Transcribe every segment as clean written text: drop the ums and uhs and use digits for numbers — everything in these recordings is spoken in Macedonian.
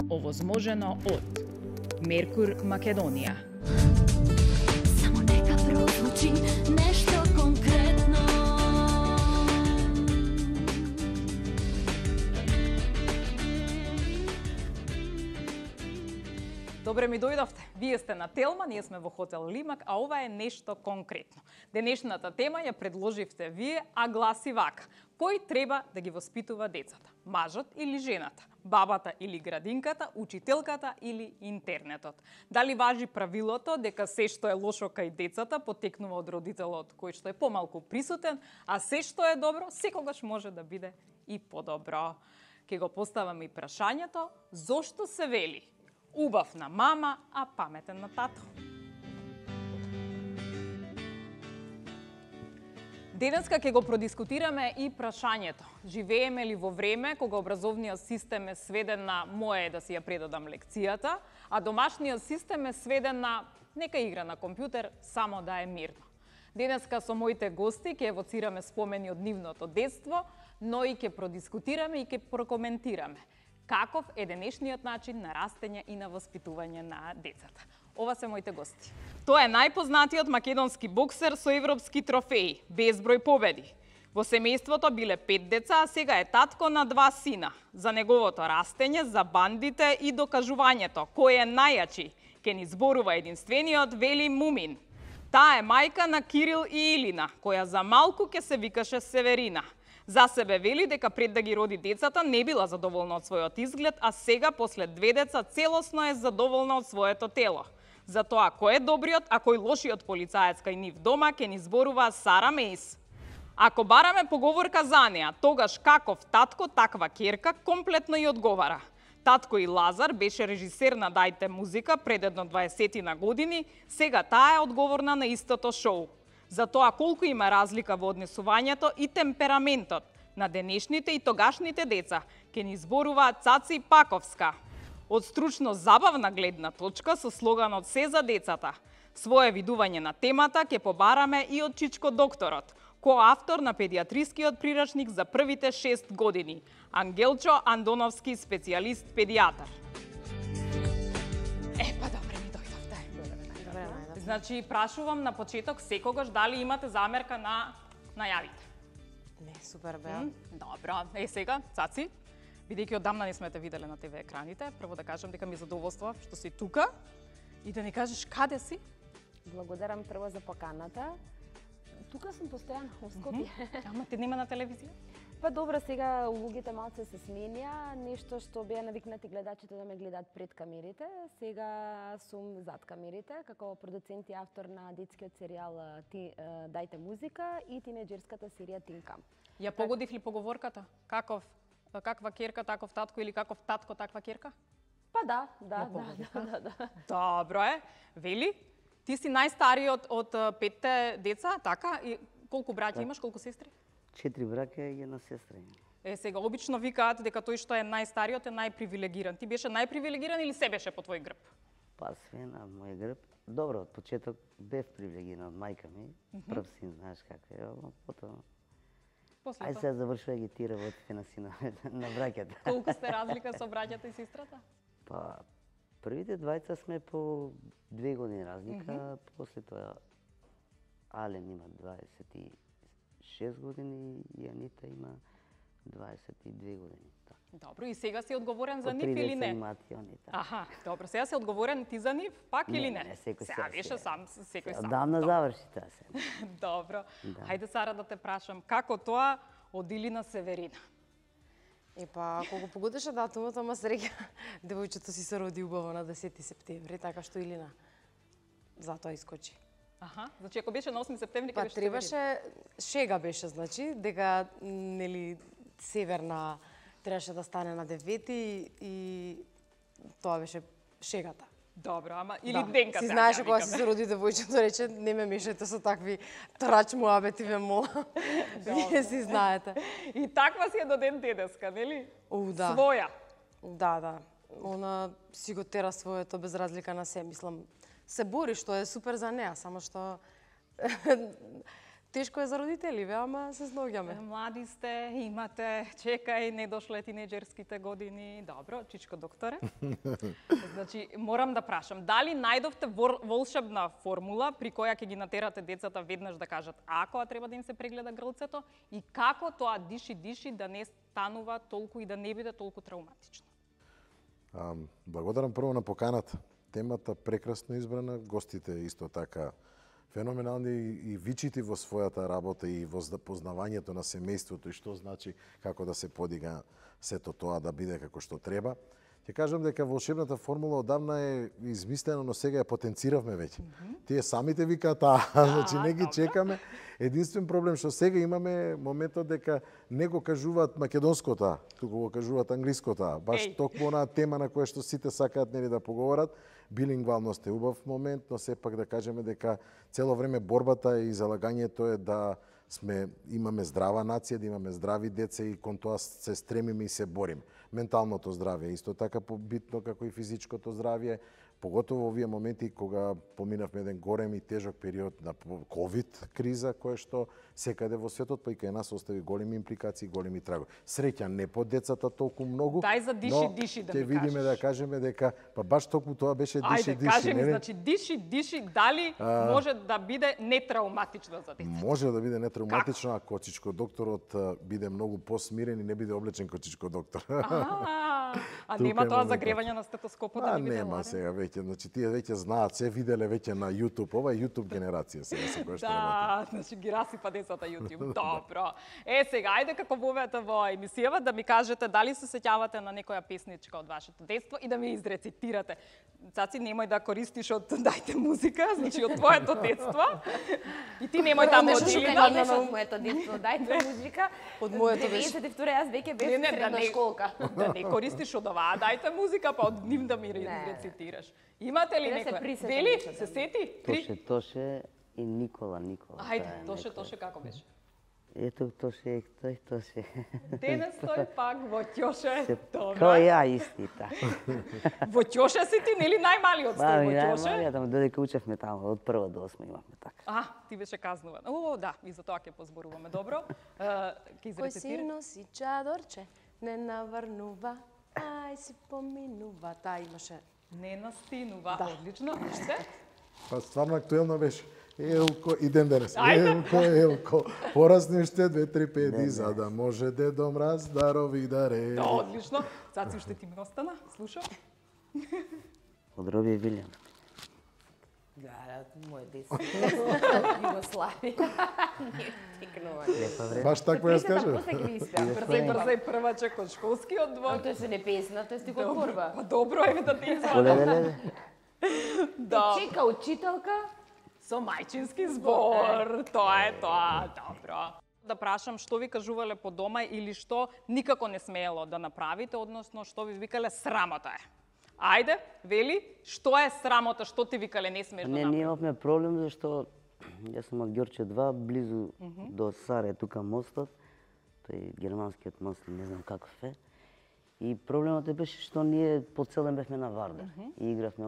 Овозможено од Меркур Македонија. Само нека прозвучи нешто конкретно. Добре ми дојдовте. Вие сте на Телма, ние сме во хотел Лимак, а ова е нешто конкретно. Денешната тема ја предложивте вие, а гласи вака. Кој треба да ги воспитува децата? Мажот или жената? Бабата или градинката? Учителката или интернетот? Дали важи правилото дека се што е лошо кај децата потекнува од родителот кој што е помалку присутен, а се што е добро секогаш може да биде и подобро? Ке го поставаме и прашањето, зошто се вели убав на мама, а паметен на тато? Денеска ќе го продискутираме и прашањето. Живееме ли во време кога образовниот систем е сведен на моје да си ја предадам лекцијата, а домашниот систем е сведен на нека игра на компјутер, само да е мирно. Денеска со моите гости ќе евоцираме спомени од нивното детство, но и ќе продискутираме и ќе прокоментираме каков е денешниот начин на растење и на воспитување на децата. Ова се моите гости. Тоа е најпознатиот македонски боксер со европски трофеи, безброј победи. Во семејството биле 5 деца, а сега е татко на 2 сина. За неговото растење, за бандите и докажувањето кој е најјачи, ке ни зборува единствениот Вели Мумин. Таа е мајка на Кирил и Илина, која за малку ке се викаше Северина. За себе вели дека пред да ги роди децата не била задоволна од својот изглед, а сега после 2 деца целосно е задоволна од своето тело. За тоа кој е добриот, а кој лошиот полицаец кај нив дома ке ни зборува Сара Мейс. Ако бараме поговорка за неа, тогаш каков татко, таква ќерка комплетно и одговара. Татко и Лазар беше режисер на Дајте музика пред едно 20 години, сега таа е одговорна на истото шоу. За тоа колку има разлика во однесувањето и темпераментот на денешните и тогашните деца, ке ни зборува Цаци Паковска. Од стручно забавна гледна точка со слоганот "Се за децата". Свое видување на темата ќе побараме и од Чичко докторот, коавтор на педиатрискиот прирачник за првите 6 години, Ангелчо Андоновски, специјалист педијатар. Па добре ми дојдовте. Значи, прашувам на почеток секогаш дали имате замерка на најавите. Не, супер беа. Добро. Сега, Цаци, бидејќи одамна не сме те виделе на ТВ екраните, прво да кажам дека ми е задоволство што си тука и да ни кажеш каде си? Благодарам прво за поканата. Тука сум постојано во Скопје. Ама ти нема на телевизија? Па добро, сега улогите малце се сменија, нешто што беа навикнати гледачите да ме гледаат пред камерите, сега сум зад камерите, како продуцент и автор на детскиот серијал Дајте музика и тинеџерската серија Тинкам. Ја погодив ли поговорката? Каква ќерка, таков татко или каков татко, таква ќерка? Па да. Добро е. Вели, ти си најстариот од 5 деца, така? И колку браќа имаш, колку сестри? 4 браќа и една сестра. Сега обично викаат дека тој што е најстариот е најпривилегиран. Ти беше најпривилегиран или се беше по твој грб? Па све на мој грб. Добро, од почеток бев привилегиран од мајка ми. Прв син, знаеш како е, потоа. Ај сега завршува ги ти работите на синовете, на браќата. Колку сте разлика со браќата и сестрата? Па првите двајца сме по 2 години разлика, после тоа Ален има 26 години и Анита има 22 години. Добро, и сега си одговорен за нив или не? Имаат и они, така. Аха, добро, сега си одговорен ти за нив, пак или не? Не, секој сега беше сам, секој сам. Одамна заврши таа се. Добро. Хајде, Сара, да те прашам, како тоа од Илина Северина? Епа, колку погодеше датумот, ама среќа, девојчето си се роди убаво на 10 септември, така што Илина затоа искочи. Аха, значи ако беше на 8 септември, ќе па беше требаше, шега беше, значи, дека, нели, Северна требаше да стане на 9 и тоа беше шегата. Добро, ама или денка. Си знаеше кога си се роди девојчето, рече, не ме мешајте со такви трач муабети, ве молам. Вие си знаете. И таква си е до ден денеска, нели? Да. Своја. Да. Она си го тера своето без разлика на се, мислам. Се бори, што е супер за неа, само што Тешко е за родители, ама се сноѓаме. Млади сте, имате, чекај, не дошле тинеџерските години. Добро, чичко докторе. Значи, морам да прашам, дали најдовте волшебна формула при која ќе ги натерате децата веднаш да кажат ако треба да им се прегледа грлцето и како тоа диши да не станува толку и да не биде толку травматично? Благодарам прво на поканата. Темата прекрасно избрана, гостите исто така феноменални и вичити во својата работа и во познавањето на семејството и што значи како да се подига сето тоа да биде како што треба. Ќе кажам дека волшебната формула одавна е измислена, но сега ја потенциравме веќе. Тие самите викаат, значи не ги чекаме. Единствен проблем што сега имаме моментот дека не го кажуваат македонското, туку го кажуваат англиското. Баш токму онаа тема на која што сите сакаат нели да поговорат. Билингвалност е убав момент, но сепак да кажеме дека цело време борбата и залагањето е да имаме здрава нација, да имаме здрави деца и кон тоа се стремиме и се бориме. Менталното здравје исто така побитно како и физичкото здравје, поготово во овие моменти кога поминавме еден голем и тежок период на ковид криза, која што секаде во светот, па и кај нас остави големи импликации, големи трагови. Среќа не по децата толку многу, Дај за диши да ќе видиме да кажеме дека па баш токму тоа беше диши. Ајде, кажи ми, значи диши, дали може да биде нетравматично за деца? Може да биде нетравматично ако чичко докторот биде многу посмирен и не биде облечен како чичко доктор. А нема тоа загревање на стетоскопот да не биде нема сега веќе, значи тие веќе знаат, се виделе веќе на YouTube, ова е YouTube генерација сега со која што работи. Да, значи ги расипа децата YouTube. Добро. Сега ајде како вовете во емисијава да ми кажете дали се сеќавате на некоја песничка од вашето детство и да ми изрецитирате. Цаци, немој да користиш од Дајте музика, значи од твоето детство. И ти немој таму од Илина. Од моето детство, Дајте музика. Од моето беше. 92 јас веќе бев средна школка. Да не користиш од оваа Дајте музика, па од нив да ми изрецитираш. Имате ли некој? Вели, се сети? Тоше и Никола. Ајде, Тоше како беше? Ето Тоше, Тоше. Денес тој пак во Ќоше. Као ја исти така. Во Ќоше си ти, нели најмалиот сте во Ќоше? Најмалиот, додека учевме таму, од 1 до 8 имавме така. Ти беше казнуван. Да, и за тоа ќе позборуваме. Добро. Ќе Кој си изрецитираш? носи чадорче, не наврнува, ај си поминува. Таа имаше. Не настинува. Одлично. Уште? Па стварно актуелно беше. Елко, идем денес. Ајде. Елко, порасни уште 2-3 педи, за да може Дедо Мраз дарови да реди. Одлично. Цаци, уште ти ми остана. Слушам. Од Роби Вилјам. Да, моје детство. Југославија. Не текнува. Лепа време. Баш така ја скажа. После ги испеам. Брзај првачек од школскиот двор. Тоа се не песна, тоа е стига борба. Па добро, еве да ти извадам. Да. Чека учителка. Со мајчински збор. Тоа е тоа. Добро. Да прашам што ви кажувале по дома или што никако не смеело да направите, односно што ви викале срамота е. Ајде, вели, што е срамота, што ти викале не смеш да Не, направиш? ние имавме проблем зашто јас сум од Ѓорче 2, близу до Саре, тука мостот, тој германскиот мост, не знам каков е. И проблемот беше што ние по цел ден бевме на Вардар и игравме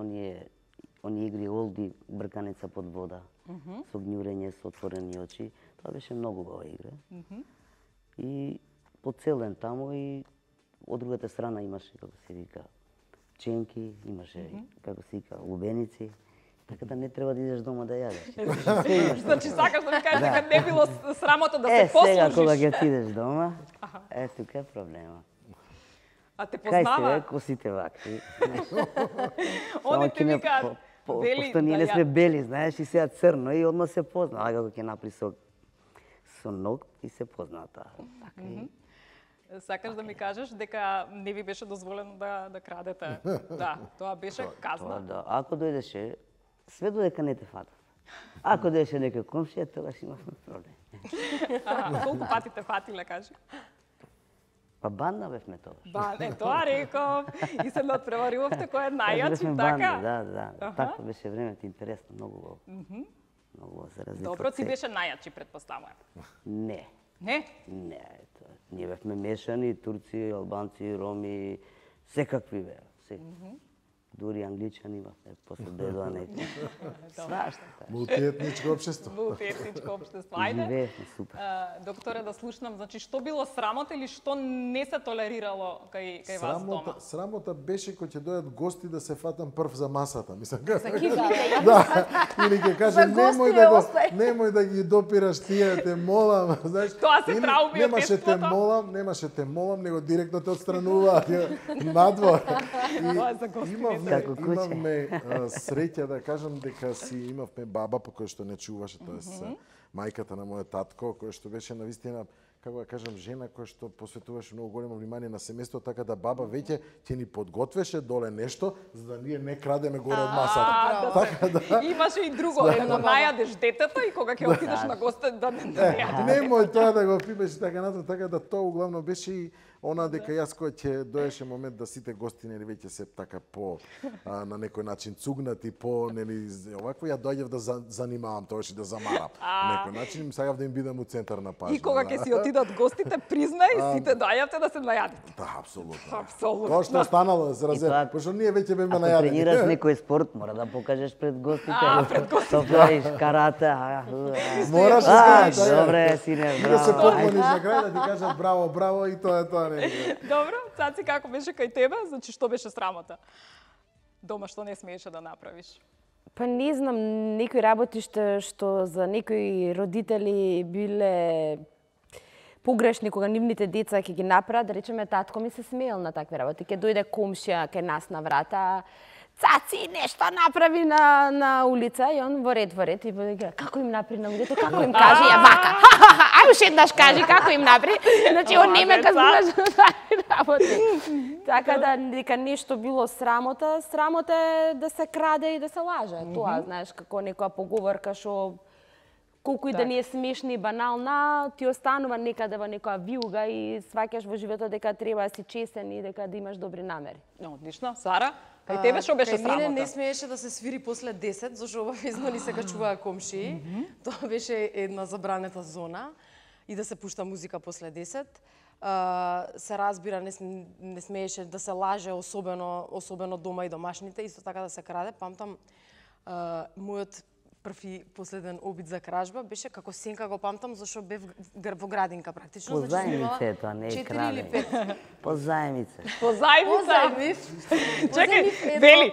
оние игри олди, брканица под вода, со гњурење, со отворени очи. Тоа беше многу убава игра. И по цел ден таму и од другата страна имаше, како се вика, ченки, имаше, како се вика, лубеници. Така да не треба да идеш дома да јадеш. Значи сакаш да ми кажеш дека не било срамота да се послужиш. Сега кога ќе отидеш дома, тука е проблема. А те Кај познава? се косите вакви. Они ти викаат, вели Пошто ние не сме бели, знаеш, и сега црно и одма се позна. А како ќе напри со ног и се позна тоа. Така и Сакаш да ми кажеш дека не ви беше дозволено да крадете. Да, тоа беше тоа казна. да. Ако дојдеше, све додека не те фатат. Ако дојдеше некој комшија, тогаш имавме проблем. Колку пати те фатиле, кажи? Па банда бевме тогаш. Тоа реков. И се надпреваривавте кој е најјачи, така? Да. Така беше времето, интересно, многу убаво. Многу убаво се разлика. Добро, ти беше најјачи, предпоставувам. Не. Не? Не, ние бевме мешани, турци, албанци, роми, секакви беа. дури англичани имавме, после дојдоа неки. Свашта. Мултиетничко општество. Мултиетничко општество. Ајде. Живеевме супер. Докторе, да слушнам, значи што било срамота или што не се толерирало кај вас дома? Срамота беше кога ќе дојдат гости да се фатам прв за масата. Мислам, да. Или ќе кажам немој да ги допираш тие, те молам, знаеш. Тоа се трауми од детството. Немаше те молам, него директно те отстранува надвор. Имавме среќа да кажам дека си имавме баба по која што не чуваше, тоест мајката на мојот татко, која што беше навистина, како да кажам, жена која што посветуваше многу големо внимание на семејството, така да баба веќе ќе ни подготвеше доле нешто за да ние не крадеме горе од масата. Така да имаше и друго, да најадеш детето и кога ќе отидеш на гости да не најадеш. Немој тоа да го пипеш така натаму, така да тоа углавно беше и она дека јас кога ќе доеше момент да сите гости нели веќе се така по на некој начин цугнати, по нели овакво ја доаѓав да занимавам тоаш и да замарам. На некој начин сакав да им бидам у центар на пажба. И кога ќе си отидат гостите, признај, сите доаѓавте да се најадите. Да, апсолутно. Апсолутно. Тоа што останало за разрез, пошто ние веќе беме најадени. Ако тренираш некој спорт, мора да покажеш пред гостите. Пред гостите. Тоа карате. Мораш да добре, сине, браво. Да се поклониш браво. на крај да ти кажат браво, браво и тоа е тоа. Добро, Цаци, како беше кај тебе? Значи, што беше срамота? Дома што не смееше да направиш? Па не знам, некои работи што за некои родители биле погрешни кога нивните деца ќе ги направат, да речеме, татко ми се смеел на такви работи. Ќе дојде комшија кај нас на врата, Цаци нешто направи на улица и он во ред и вика како им направи на улица, како им кажи ја вака. Ај уште еднаш кажи како им направи. Значи он нема кажуваш такви работи. Така да дека нешто било срамота е да се краде и да се лаже. Тоа знаеш како некоја поговорка што колку и да не е смешна и банална, ти останува некаде во некоја вилга и сваќаш во животот дека треба да си честен и дека да имаш добри намери. Одлично. Сара, кај тебе што беше срамота? Кај мене не смееше да се свири после 10, зашто обавезно ни се качуваа комшии. Тоа беше една забранета зона и да се пушта музика после 10. Се разбира, не смееше да се лаже, особено дома и домашните, исто така да се краде. Памтам, мојот први последен обид за кражба беше како сенка го памтам, зашто бев во градинка практично. По зајмице, тоа не е краде. По зајмице. По зајмица? Чекај, Вели,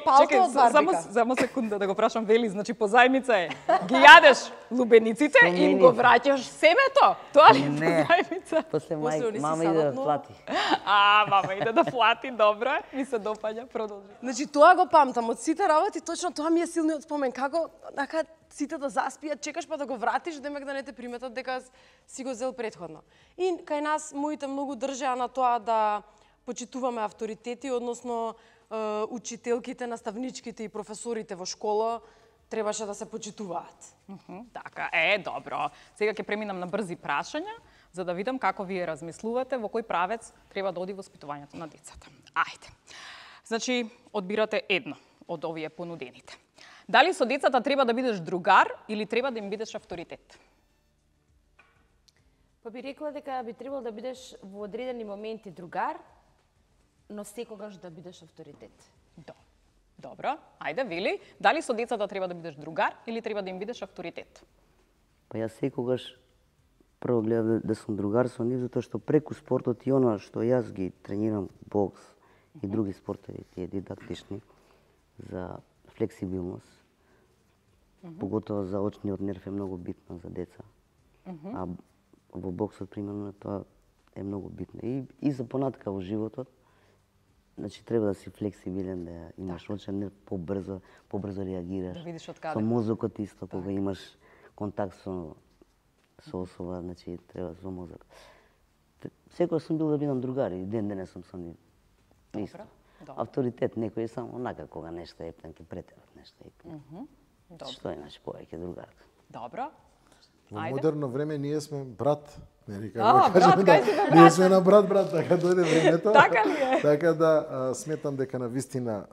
само секунда да го прашам Вели, значи по зајмица е. Ги јадеш лубениците и им го враќаш семето? Тоа ли по зајмица? После мама иде да плати. Мама иде да плати, добро, ми се допаѓа, продолжи. Значи тоа го памтам од сите работи, точно тоа ми е силниот спомен, како сите да заспијат, чекаш па да го вратиш, демек да не те приметат дека си го зел претходно. И кај нас моите многу држеа на тоа да почитуваме авторитети, односно учителките, наставничките и професорите во школа требаше да се почитуваат. Така, добро. Сега ќе преминам на брзи прашања, за да видам како вие размислувате, во кој правец треба да оди воспитувањето на децата. Ајде. Значи, одбирате едно од овие понудените. Дали со децата треба да бидеш другар или треба да им бидеш авторитет? Па би рекла дека би требало да бидеш во одредени моменти другар, но секогаш да бидеш авторитет. Добро. Ајде, Вили, дали со децата треба да бидеш другар или треба да им бидеш авторитет? Па јас секогаш прво гледам да сум другар со нив, затоа што преку спортот и оно што јас ги тренирам, бокс и други спортови, тие дидактични, за флексибилност, поготово за очниот нерв е многу битно за деца. А во боксот, примерно, тоа е многу битно. И за понатка во животот, значи треба да си флексибилен, да имаш очен нерв, побрзо реагираш. Да видиш од каде. Со мозокот исто, кога имаш контакт со особа, значи треба со мозок. Секој сум бил да бидам другар и ден денес сум со нив. Исто. Авторитет некој е само онака кога нешто е ќе претерат нешто е. Што е, значи, повеќе другар. Добро. Во модерно време ние сме брат Нели како кажеме да ние сме на брат, така дојде времето. Така ли е? Така да сметам дека на вистина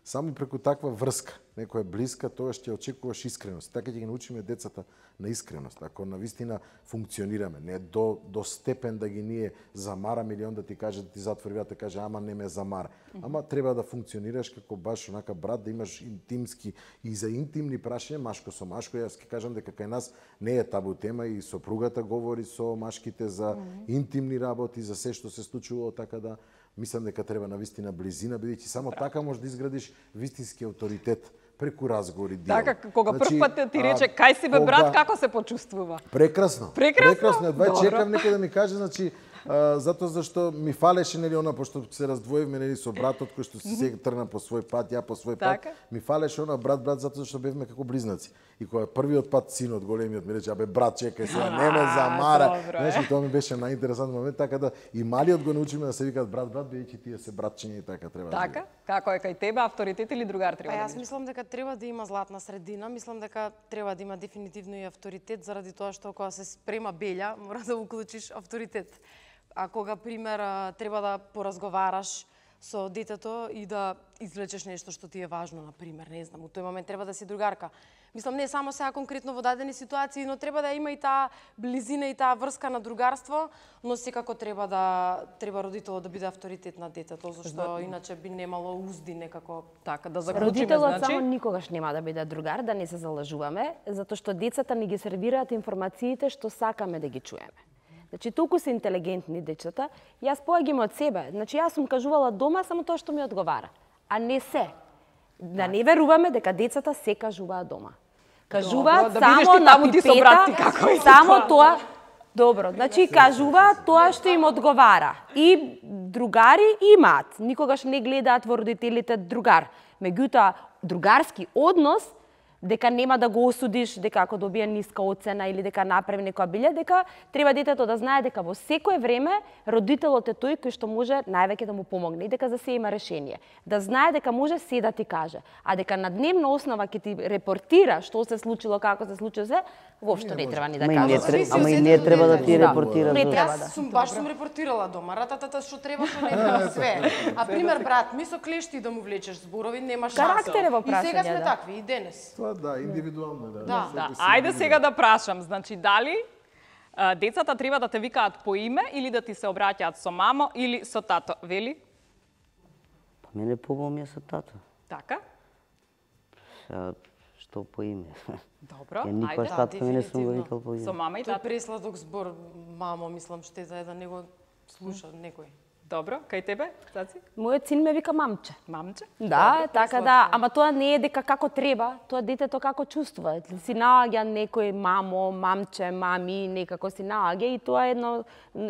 само преку таква врска, некоја блиска, тоа ќе очекуваш искреност. Така ќе ги научиме децата на искреност. Ако на вистина функционираме, не до степен да ги ние замараме или онда ти каже да ти затвори врата, каже ама не ме замара. Ама треба да функционираш како баш онака брат, да имаш интимски и за интимни прашања, машко со машко. Јас ќе кажам дека кај нас не е табу тема и сопругата говори со машките за интимни работи, за се што се случувало, така да мислам дека треба на вистина близина, бидејќи само така можеш да изградиш вистински авторитет преку разговори, диалог. Така, кога прв пат ти рече кај си бе брат, како се почувствува? Прекрасно. Прекрасно? Едва чекав некој да ми каже, значи, затоа зашто ми фалеше, нели, она, пошто се раздвоивме, нели, со братот, кој што се тргна по свој пат, ја по свој пат, ми фалеше она брат, затоа зашто бевме како близнаци. И кога првиот пат синот големиот ми рече, абе брат, чекај сега, не ме замара. Значи, тоа ми беше најинтересантен момент, така да и малиот го научиме да се викаат брат, бидејќи тие се братчиња и така треба. Така? Како е кај тебе, авторитет или другар треба да Јас мислам дека треба да има златна средина, мислам дека треба да има дефинитивно и авторитет, заради тоа што кога се спрема белја, мора да уклучиш авторитет. А кога, пример, треба да поразговараш со детето и да извлечеш нешто што ти е важно, на пример, не знам, у тој момент треба да си другарка. Мислам, не само сега конкретно во дадени ситуации, но треба да има и таа близина и таа врска на другарство, но секако треба родителот да биде авторитет на детето, зашто иначе би немало узди некако. Така, да заклучиме, Родителот значи. само никогаш нема да биде другар, да не се залажуваме, затоа што децата ни ги сервираат информациите што сакаме да ги чуеме. Значи, толку се интелигентни дечата, јас поаѓам од себе. Значи, јас сум кажувала дома само тоа што ми одговара, а не се. Да не веруваме дека децата се кажуваат дома. Кажуваат да видиш само ти на таму ти со брат ти пипета, како е само ситуација. тоа. Добро, значи кажуваат тоа што им одговара. И другари имаат. Никогаш не гледаат во родителите другар. Меѓутоа, другарски однос, дека нема да го осудиш, дека ако добие ниска оцена или дека направи некоја билја, дека треба детето да знае дека во секое време родителот е тој кој што може највеќе да му помогне и дека за се има решение. Да знае дека може се да ти каже, а дека на дневна основа ќе ти репортира што се случило, како се случило се, воопшто не треба ни да каже. Ама и не треба да ти репортира. Не за- треба Јас баш сум репортирала дома, рататата што треба, што не треба, све. А пример брат, ми со клешти да му влечеш зборови, нема шанса. Карактер е во И сега прашање, сме да. такви и денес. Тоа да, индивидуално да. Да. Да, ајде сега да прашам, значи дали децата треба да те викаат по име или да ти се обраќаат со мамо или со тато, вели? Па мене побаво ми е со тато. Така? Сега, што по име? Добро, Ја никош ајде. тато мене сум го дефинитивно. викал по име. Со мама и Тој тато. пресладок збор, мамо, мислам, штета е да не го слуша некој. Добро, кај тебе, Цаци? Мојот син ме вика мамче. Мамче? Да, така да, ама тоа не е дека како треба, тоа детето како чувствува. Си наоѓа некој мамо, мамче, мами, некако си наоѓа и тоа е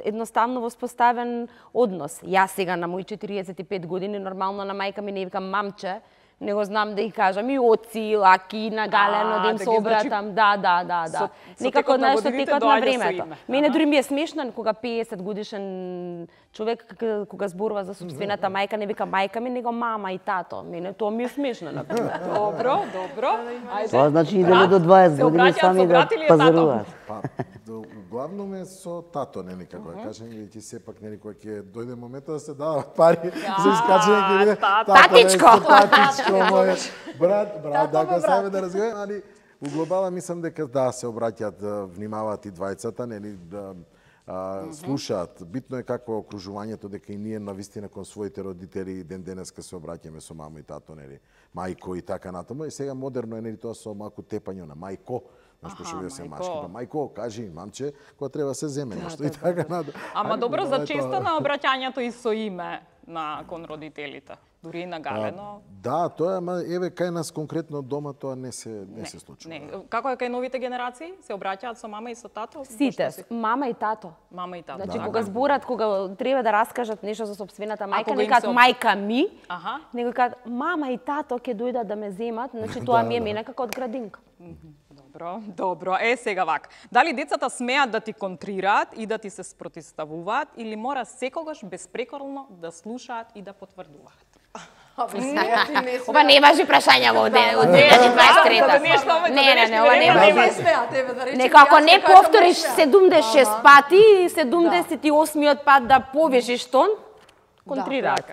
едноставно воспоставен однос. Јас сега на мои 45 години нормално на мајка ми не викам мамче, него знам да ја кажам и оци, лаки, на галено, да им да се ги, обратам, да. со Некако, текот на знаеш, со годините текот на доаѓа со времето. име. Мене Аха. дури ми е смешно кога 50 годишен човек кога зборува за сопствената мајка, не вика мајка ми, него мама и тато. Мене тоа ми е смешно, на пример. Добро, добро. Ајде. Тоа значи идеме Брат, до 20 се години обраќаат сами со да брат или е тато? пазаруваат. Па, углавном е со тато, нели, како да кажем, бидејќи сепак, нели, кога ќе дојде моментот да се дадат пари за искачање, ќе биде тато. Татичко! Татичко мој брат, така саме да разговараме, али у глобала мислам дека да се обраќаат, внимаваат и двајцата, нели, да слушаат. Битно е какво е окружувањето, дека и ние навистина кон своите родители ден денеска се обраќаме со мамо и тато, нели, мајко и така натаму. И сега модерно е, нели, тоа со малку тепање на мајко. Знаеш, пошто се мајко. машки, па мајко, кажи, мамче, кога треба се земе нешто и така натаму. Ама Али, добро, тоа за е често тоа. на обраќањето и со име кон родителите. Дури и на галено. Да, тоа ама еве кај нас конкретно дома тоа не се случува. Не, како е кај новите генерации? Се обраќаат со мама и со тато? Сите, Пошто си- мама и тато. Мама и тато. Значи, да. кога зборат, кога треба да раскажат нешто за сопствената мајка, кога не им кажат се мајка ми, Аха. него кажат мама и тато ќе дојдат да ме земат, значи тоа ми е мене како од градинка. Добро, добро. Сега вак. Дали децата смеат да ти контрираат и да ти се спротивставуваат или мора секогаш безпрекорно да слушаат и да потврдуваат? Ова не важи прашања во 2023-та. Не, ова не важи. Некако не повториш 76 пати и 78-миот пат да повишиш тон, контрираат.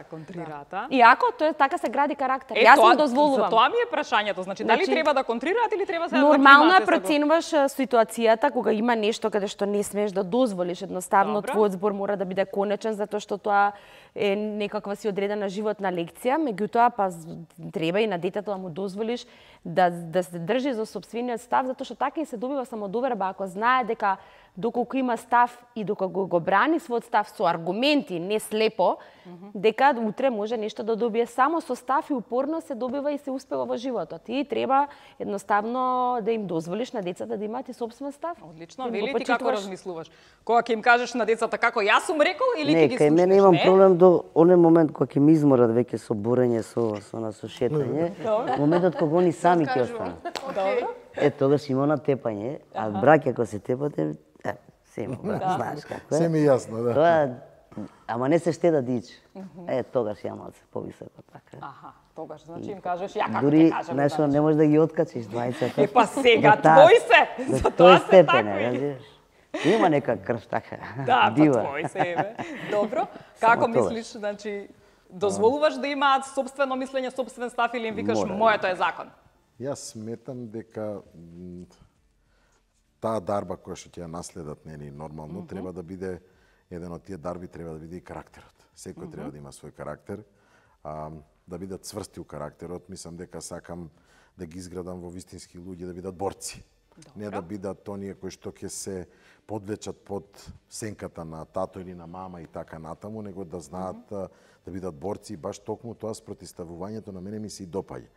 Иако тоа така се гради карактер. Јас му дозволувам. За тоа ми е прашањето, значи дали треба да контрираат или треба се да нормално е проценуваш ситуацијата кога има нешто каде што не смееш да дозволиш, едноставно твојот збор мора да биде конечен затоа што тоа е некаква си одредена животна лекција, меѓутоа па треба и на детето да му дозволиш да се држи за сопствениот став, затоа што така и се добива самодоверба, ако знае дека доколку има став и доколку го брани својот став со аргументи, не слепо, дека утре може нешто да добие само со став и упорно се добива и се успева во животот. И треба едноставно да им дозволиш на децата да имаат и собствен став. Одлично, Вели, ти како размислуваш? Кога ќе им кажеш на децата како јас сум рекол или ќе ги слушнеш? Не, кај мене имам проблем до оној момент кога ќе ми изморат веќе со борење, со шетање. Моментот кога они сами ќе останат. Добро. Тогаш има на тепање, а браќа кога се тепате, се има, знаеш како е. Се ми јасно, да. Тоа, ама не се штеда дич. Тогаш ја малце повисоко така. Аха, тогаш, значи им кажеш ја како дури, ќе кажам. Дури, знаеш, не можеш да ги откачиш двајцата. Па сега, твој се, за тоа се такви. Има нека крв така, да, дива. Да, па твој се, бе. Добро, како мислиш, значи, дозволуваш да имаат собствено мислење, собствен став или им викаш моето е закон? Јас сметам дека таа дарба која што ќе ја наследат нели нормално треба да биде еден од тие дарби треба да биде и карактерот. Секој треба да има свој карактер, да бидат цврсти у карактерот. Мислам дека сакам да ги изградам во вистински луѓе да бидат борци. Не да бидат оние кои што ќе се подвлечат под сенката на тато или на мама и така натаму, него да знаат да бидат борци и баш токму тоа спротивставувањето на мене ми се и допаѓа.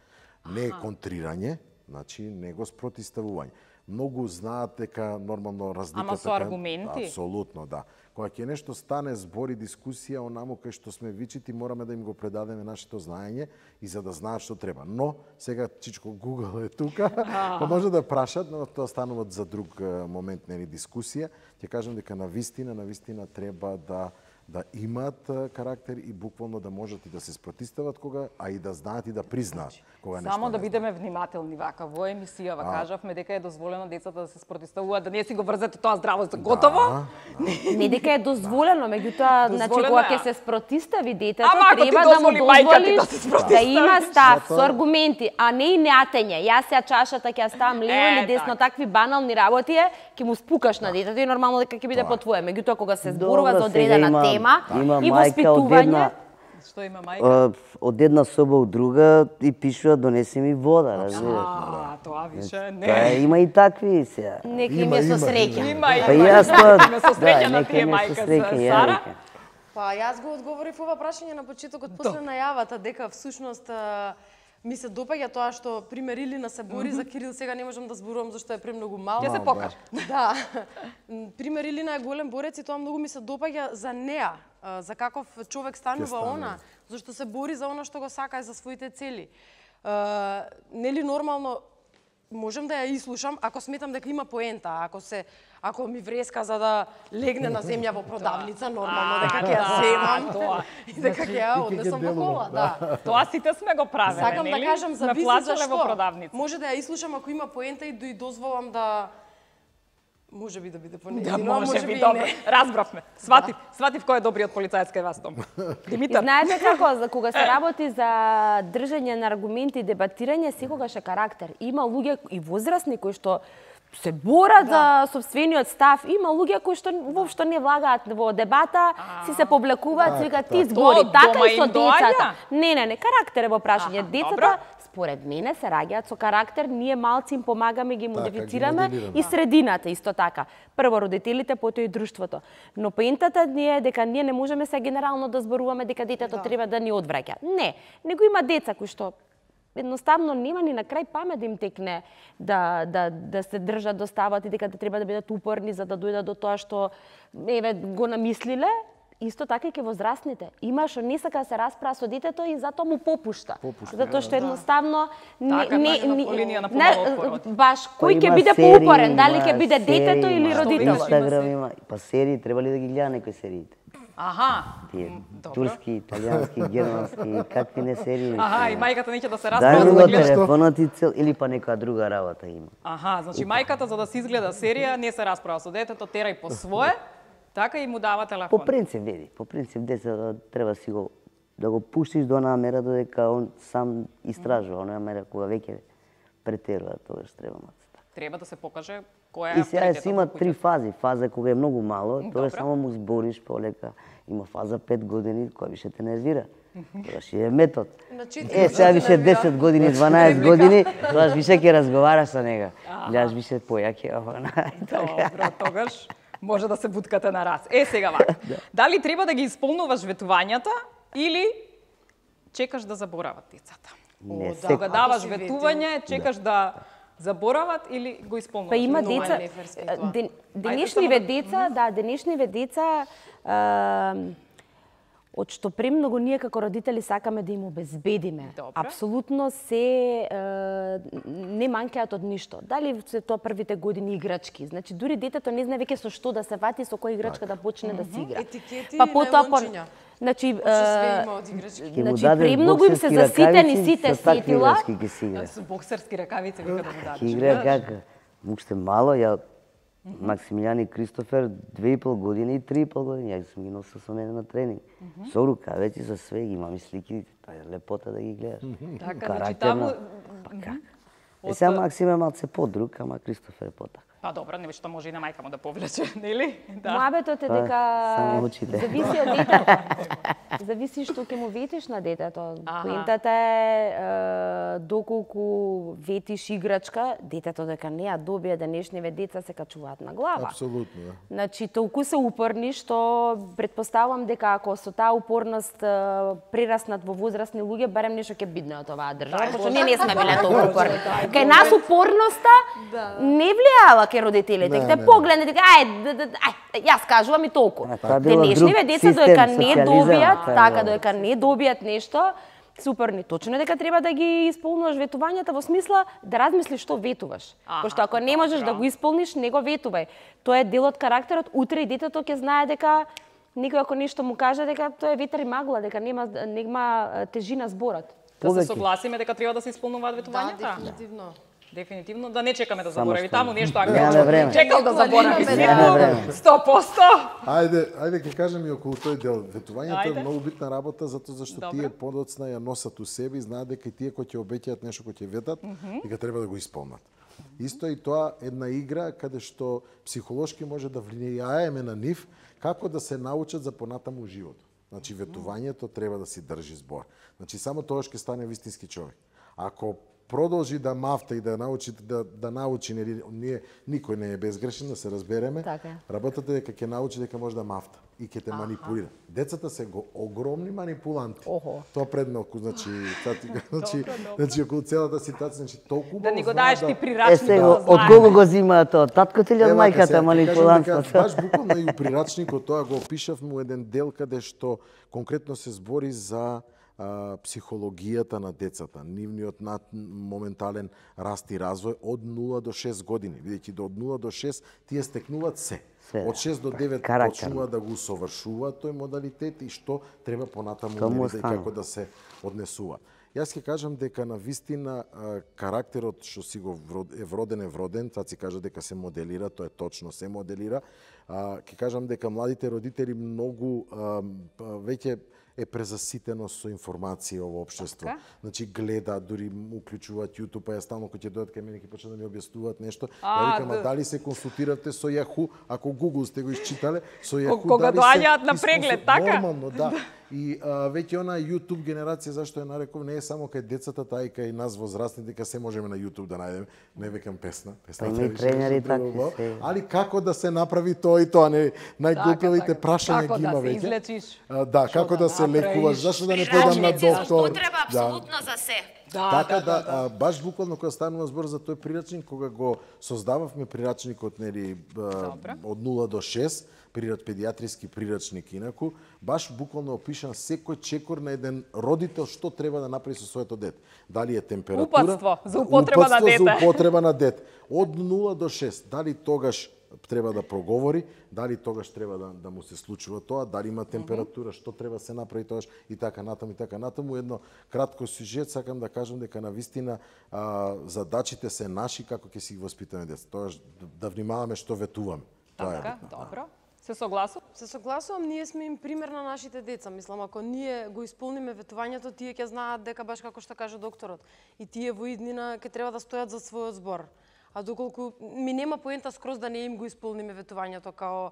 Не е контрирање, значи него спротивставување. Многу знаат дека нормално разликата... Ама со аргументи? Апсолутно, да. Кога ќе нешто стане збор и дискусија, онаму кај што сме вичити, мораме да им го предадеме нашето знаење и за да знаат што треба. Но, сега Чичко Google е тука, па може да прашат, но тоа станува за друг момент, нели, дискусија. Ќе кажам дека на вистина треба да имаат карактер и буквално да можат и да се спротивстават кога, а и да знаат и да признаат кога нешто. Само да бидеме внимателни вака во емисијава кажавме дека е дозволено децата да се спротивставуваат, да не си го врзете тоа здраво за готово. Не дека е дозволено, меѓутоа, значи кога ќе се спротивстави детето, треба да му дозволиш да има став со аргументи, а не и неатење. Јас ја чашата ќе ја ставам лево или десно, такви банални работи ќе му спукаш на детето и нормално дека ќе биде по твое. Меѓутоа кога се зборува за одредена тема и воспитување. Што има мајка? Од една соба у друга и пишува донеси ми вода, разбираш. Тоа више не. Има и такви сега. Нека им е со среќа. Има. Па јас тоа со среќа на тие мајка Сара. Па јас го одговорив ова прашање на почетокот после најавата дека всушност ми се допаѓа тоа што пример Илина се бори за Кирил, сега не можам да зборувам зашто е премногу мал. Ќе се покаже. Да. Пример Илина е голем борец и тоа многу ми се допаѓа за неа, за каков човек станува она, зашто се бори за она што го сака и за своите цели. Нели нормално можам да ја изслушам ако сметам дека има поента, ако ми вреска за да легне на земја во продавница, нормално дека ќе ја земам тоа и дека ќе ја однесам во кола, да. Тоа сите сме го правеле, Сакам да кажам зависи зашто. Може да ја изслушам ако има поента и дозволам да може би да биде понеделно, да, може би добро. Разбравме. Сватив кој е добриот полицаец кај вас, Том. Димитар. Знаете како, кога се работи за држање на аргументи и дебатирање, секогаш е карактер. Има луѓе и возрастни кои што се борат за собствениот став. Има луѓе кои што воопшто не влагаат во дебата, си се повлекуваат, си викаат ти збори, така и со децата. Не, карактер е во прашање. Децата според мене се раѓаат со карактер, ние малци им помагаме, ги модифицираме и средината исто така. Прво родителите, потоа и друштвото. Но поентата е дека ние не можеме се генерално да зборуваме дека детето треба да ни одвраќа. Не, него има деца кои што едноставно нема ни на крај памет да им текне да се држат до ставот и дека треба да бидат упорни за да дојдат до тоа што го намислиле. Исто така и ке возрастните. Има што не сака да се расправа со детето и затоа му попушта. Затоа што едноставно баш кој ќе биде поупорен, дали ќе биде детето или родителот. Инстаграм има, па серии треба ли да ги гледа некои сериите? Аха, Тие добро. турски, италијански, германски, какви не серии. Аха, и мајката неќе да се Да, расправа за го да гледа. телефонот и цел, или па нека друга работа има. Аха, значи мајката за да се изгледа серија не се расправа со детето, тера и по свое, така и му дава телефон. По принцип деца треба си го да го пуштиш до онаа мера додека он сам истражува, онаа мера кога веќе претерува, тогаш треба мацата. Треба да се покаже која е И сега авторитетот си има во три куќата. фази. Фаза кога е многу мало, Добро. тогаш само му збориш полека. Има фаза 5 години која више те нервира. Тогаш е метод. На 4 Сега години више нервира. 10 години, 12 години, тогаш више ќе разговараш со нега. Гледаш више појаке, Добро, тогаш може да се буткате на раз. Сега вака. Дали треба да ги исполнуваш ветувањата или чекаш да заборават децата? Не, да. Кога Ако даваш си ветување, чекаш да заборават или го исполнуваш? Па има Многу деца, неферски е тоа. денешниве деца, денешниве деца, од што премногу ние како родители сакаме да им обезбедиме. Добро. Апсолутно се не манкаат од ништо. Дали се тоа првите години играчки. Значи дури детето не знае веќе со што да се вати, со која играчка да почне да си игра. Етикети Па и потоа најлончиња. Значи Што све има од играчки. Ќе му Значи, дадеш премногу им се боксерски заситени ракавици, сите со такви сетила. играчки ќе си игра. Со боксерски ракавици вика да му дадеш. Ќе игра како? Уште мало, ја Максимилијан и Кристофер 2,5 години и 3,5 години. Ја сум ги носил со мене на тренинг. Со рукавици, со све, ги имам и слики, тоа е лепота да ги гледаш. Така, значи Карактерно. таму... Па как? Сега Максим е малце подруг, ама Кристофер е потак. Па добро, не што може и на мајка му да повлече, нели? Да. Муабетот е Па, само дека очите. зависи од детето. Зависи што ќе му ветиш на детето. Аха. Поентата е доколку ветиш играчка, детето дека не ја добија, денешниве деца се качуваат на глава. Апсолутно, да. Значи, толку се упорни што предпоставам дека ако со таа упорност прераснат во возрастни луѓе, барем нешто ќе бидне од оваа држава, пошто ние не сме биле толку упорни. Кај нас упорноста не влијала кај родителите. Не, Те не. погледнат дека јас кажувам и толку. тоа било Денешниве друг деца систем, додека не социализам, добијат, тоа така било. додека не добијат нешто, суперни. Точно е дека треба да ги исполнуваш ветувањата во смисла да размислиш што ветуваш. Аха, Пошто ако не можеш да добро. го исполниш, не го ветувај. Тоа е дел од карактерот. Утре и детето ќе знае дека некој ако нешто му каже дека тоа е ветер и магла, дека нема тежина зборот. Да се Повеќе. согласиме дека треба да се исполнуваат Да, ветувањата? дефинитивно. Дефинитивно, да не чекаме да Само заборави што таму нешто, немаме ако време. чекал да заборави Немаме сигурно, време. 100%. Ајде ќе кажем и околу тој дел. Ветувањето Ајде. е многу битна работа затоа зашто Добро. тие подоцна ја носат у себе и знаат дека и тие кои ќе обеќаат нешто кој ќе ветат, дека треба да го исполнат. Исто и тоа една игра каде што психолошки може да влијаеме на нив како да се научат за понатаму животот. Значи ветувањето треба да си држи збор. Значи само тогаш ќе стане вистински човек. Ако продолжи да мафта и да научи нели ние никој не е безгрешен, да се разбереме. Така е. Работата е дека ќе научи дека може да мафта и ќе те манипулира. Децата се огромни манипуланти. Охо. Тоа предмалку, значи околу целата ситуација, значи толку Да ни го знаат даеш ти Е, прирачник сега, да од знае. кого го зимаат тоа? Таткото или од Ева, мајката сега, манипулантството? Баш буквално и у прирачникот тоа го опишав му еден дел каде што конкретно се збори за психологијата на децата, нивниот моментален раст и развој од 0 до 6 години. Бидејќи од 0 до 6 тие стекнуваат се. Се, Од 6 до 9 карактер. почнуваат да го усовршуваат тој модалитет и што треба понатаму Тоа му нели, останува. како да се однесува. Јас ќе кажам дека на вистина карактерот што си го е вроден, цаци кажа дека се моделира, тоа е точно, се моделира. Ќе кажам дека младите родители многу веќе е презаситено со информација во општество. Така. Значи гледа, дури му уклучуваат YouTube, па ја стално кога ќе дојдат кај мене ќе почнат да ми објаснуваат нешто. Ја викам, да. дали се консултиравте со Yahoo, ако Google сте го исчитале, со Yahoo Кога дали доаѓаат се на преглед, така? Нормално, да. И веќе она YouTube генерација, зашто ја нареков, не е само кај децата, таа и кај нас возрастни, дека се можеме на YouTube да најдеме. Не викам песна. Па има и тренери такви се. Али како да се направи тоа и тоа, не најглупавите Така, прашања како ги да има се веќе. излечиш? Да, како да се направиш? лекуваш, зашто да не појдам на доктор. за се. Така да, баш буквално кога станува збор за тој прирачник, кога го создававме прирачникот нели од 0 до 6, педијатриски прирачник инаку, баш буквално опишан секој чекор на еден родител што треба да направи со своето дете. Дали е температура, Упатство за употреба на дете. за употреба на дете. Од 0 до 6, дали тогаш треба да проговори, дали тогаш треба да му се случува тоа, дали има температура, што треба се направи тогаш и така натаму. Едно кратко сюжет, сакам да кажам дека навистина задачите се наши како ќе си ги воспитаме деца. Тогаш да внимаваме што ветуваме. Тоа е Така, битно. добро. Се согласувам? Се согласувам, ние сме им пример на нашите деца. Мислам, ако ние го исполниме ветувањето, тие ќе знаат дека баш како што каже докторот, и тие во иднина ќе треба да стојат за својот збор. А доколку ми нема поента скроз да не им го исполниме ветувањето, као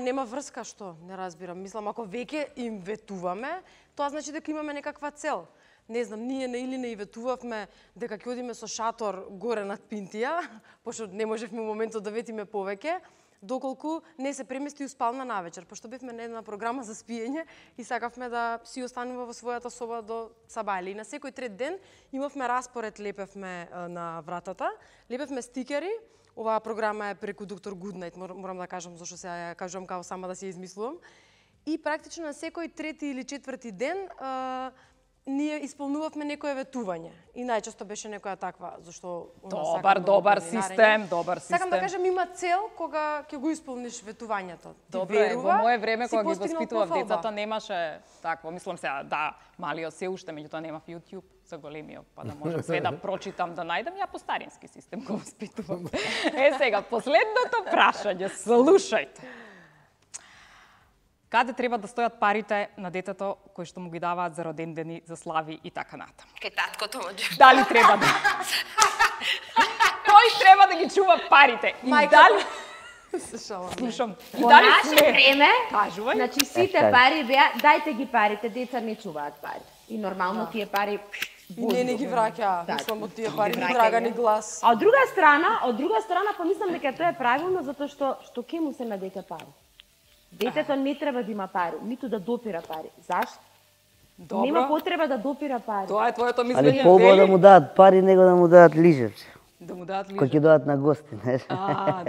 нема врска, што? Не разбирам. Мислам, ако веќе им ветуваме, тоа значи дека имаме некаква цел. Не знам, ние на Илина и ветувавме дека ќе одиме со шатор горе над Пинтија, пошто не можевме во моментот да ветиме повеќе, доколку не се премести у спална навечер, пошто бевме на една програма за спиење и сакавме да си останува во својата соба до сабајле. И на секој трет ден имавме распоред, лепевме на вратата, лепевме стикери. Оваа програма е преку доктор Гуднајт, морам да кажам зашто се ја кажувам као сама да се измислувам. И практично на секој трети или четврти ден ние исполнувавме некое ветување. И најчесто беше некоја таква, зашто Добар систем. Сакам да кажам, има цел кога ќе го исполниш ветувањето. Добре, во мое време кога ги воспитував децата немаше такво. Мислам сега, да, малиот се уште, меѓутоа немав YouTube за големиот, па да можам све да прочитам, да најдам, ја по старински систем го воспитувам. Сега, последното прашање, слушајте. Каде треба да стојат парите на детето кои што му ги даваат за родендени, за слави и така натаму? Кај таткото може. Дали треба да... Кој треба да ги чува парите? И дали... Слушам. Во наше време, Кажувај. значи сите пари беа, дајте ги парите, деца не чуваат пари. И нормално тие пари и не ги враќа, мислам од тие пари ни драга ни глас. А од друга страна, па мислам дека тоа е правилно затоа што ке му се на дете пари. Детето не треба да има пари, ниту да допира пари. Зашто? Добро. Нема потреба да допира пари. Тоа е твоето Али мислење, побо да му дадат пари, него да му дадат лижевче. Да му дадат Кој ќе лижа. дојдат на гости, знаеш.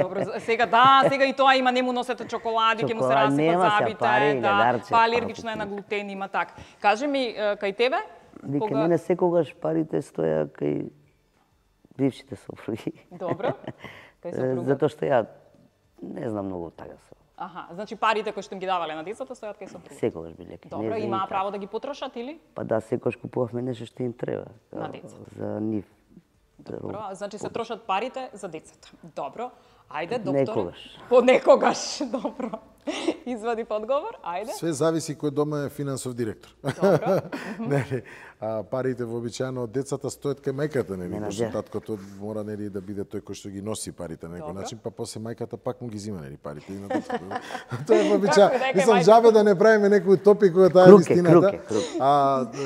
Добро, сега и тоа има, не му носете чоколади, ќе му се Чоколад, расипат нема се забите, пари, ледарче, па алергична е на глутен, има така. Кажи ми, кај тебе? Вика, мене секогаш парите стоја кај бившите сопруги. Добро. Кај сопругот? Затоа што ја не знам многу така со. Аха, значи парите кои што им ги давале на децата стојат кај сопругот. Секогаш биле кај Добро, нив. имаа право да ги потрошат или? Па да, секогаш купувавме нешто што им треба. На децата. За нив. Добро, значи се трошат парите за децата. Добро. Ајде, доктор. Некогаш. Понекогаш. Добро. Извади одговор. Ајде. Све зависи кој дома е финансов директор. Добро. Нели, парите вообичаено од децата стојат кај мајката, нели, пошто таткото мора нели да биде тој кој што ги носи парите на некој начин, па после мајката пак му ги зима нели парите и на децата. Тоа е вообичаено. Мислам жабе да не правиме некој топик кога таа е вистината.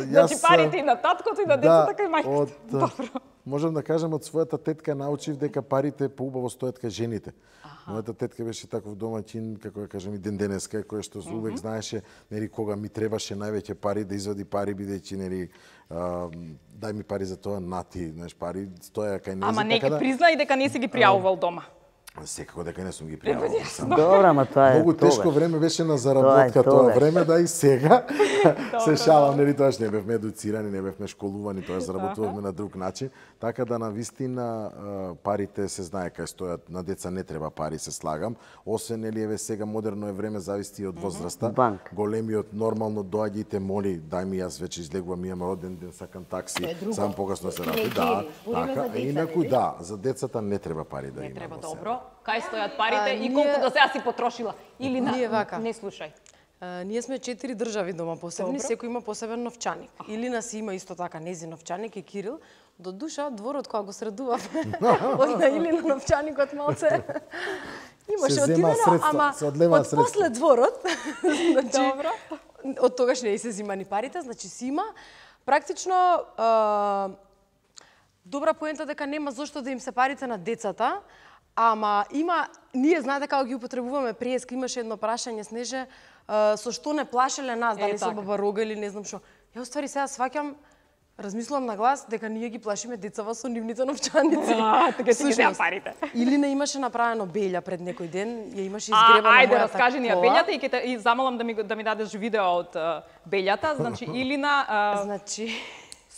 Значи парите и на таткото и на децата кај мајката. Добро. Можам да кажам од својата тетка научив дека парите поубаво стојат кај жените. Мојата тетка беше таков домаќин, како да кажам, и ден денеска, кој што увек знаеше нели кога ми требаше највеќе пари да извади пари бидејќи нели дај ми пари за тоа, нати, знаеш, пари стоја кај нејзе. Ама не ќе признај дека не си ги пријавувал дома. Секако дека не сум ги пријавил. Добра, ама тоа е Многу тешко време беше на заработка тоа време, да и сега се шалам, нели тоаш не бевме едуцирани, не бевме школувани, тоа заработувавме на друг начин, така да навистина парите се знае кај стојат, на деца не треба пари, се слагам, освен нели еве сега модерно е време, зависи од возраста. Големиот нормално доаѓа и те моли, дај ми јас веќе излегувам, имам роден ден, сакам такси, сам погасно се работи. Да, така, инаку да, за децата не треба пари да има. Не треба, добро. Кај стојат парите и колку до сега си потрошила? Или ние вака. Не слушај. Ние сме 4 држави дома посебни, секој има посебен новчаник. Илина си има исто така незин новчаник и Кирил. До душа дворот кога го средувавме, од на Илина новчаникот малце имаше одидено, ама од после дворот, значи од тогаш не се зимани парите, значи си има практично добра поента дека нема зошто да им се парите на децата. Ама има, ние знаете како ги употребуваме преска, имаше едно прашање Снеже, со што не плашеле нас, дали со баба Рога или не знам што. Ја уствари сега сваќам, размислувам на глас дека ние ги плашиме децава со нивните новчаници. Така си ги деа парите. Или не имаше направено беља пред некој ден, ја имаше изгребана мојата кола. Ајде, раскажи ни ја бељата и замолам да ми дадеш видео од бељата. Значи Илина значи